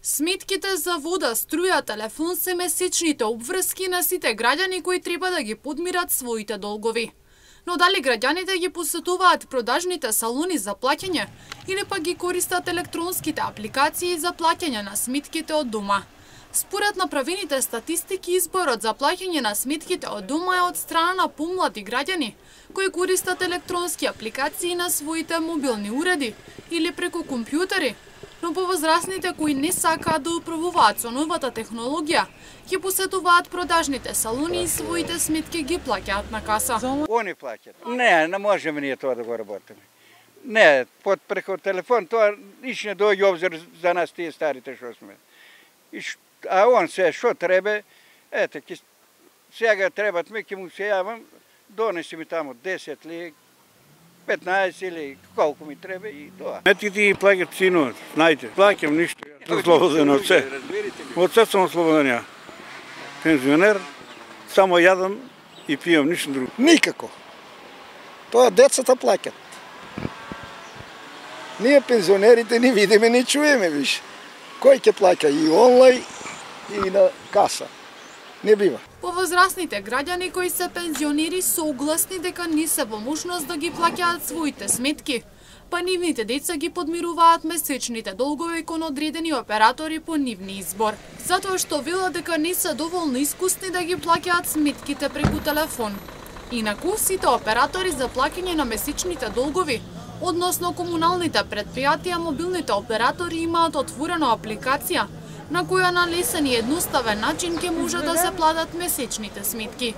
Сметките за вода, струја, телефон се месечните обврски на сите граѓани кои треба да ги подмират своите долгови. Но дали граѓаните ги посетуваат продажните салони за плаќање или пак ги користат електронските апликации за плаќање на сметките од дома? Според направените статистики, изборот за плаќање на сметките од дома е од страна на помлади граѓани кои користат електронски апликации на своите мобилни уреди или преку компјутери, но повозрасните кои не сакаат да управуваат со новата технологија, ќе посетуваат продажните салони и своите сметки ги плаќаат на каса. Они плаќаат. Не можеме ние тоа да го работиме. Не, преку телефон тоа ниш не доаѓа обзир за нас тие старите што сме. А он се што треба, ете, сега требат ќе му се јавам, донеси ми таму 10 ли, 15 или колку ми треба и тоа. Сметките ги плаќат синот, знаете, плаќам ништо. Слободен од се. Од се сум слободен ја. Пензионер, само јадам и пијам, ништо друго. Никако. Тоа децата плаќат. Ние пензионерите не видиме, не чуеме више. Кој ќе плаќа и онлайн и на каса? Не бива. Повозрасните граѓани кои се пензионери согласни дека не се во можност да ги плаќаат своите сметки, па нивните деца ги подмируваат месечните долгови кон одредени оператори по нивни избор. Затоа што велат дека не се доволно искусни да ги плаќаат сметките преку телефон. Инаку, сите оператори за плаќање на месечните долгови, односно комуналните предпријатија, мобилните оператори имаат отворена апликација на која на лесен и едноставен начин ќе може да се платат месечните сметки.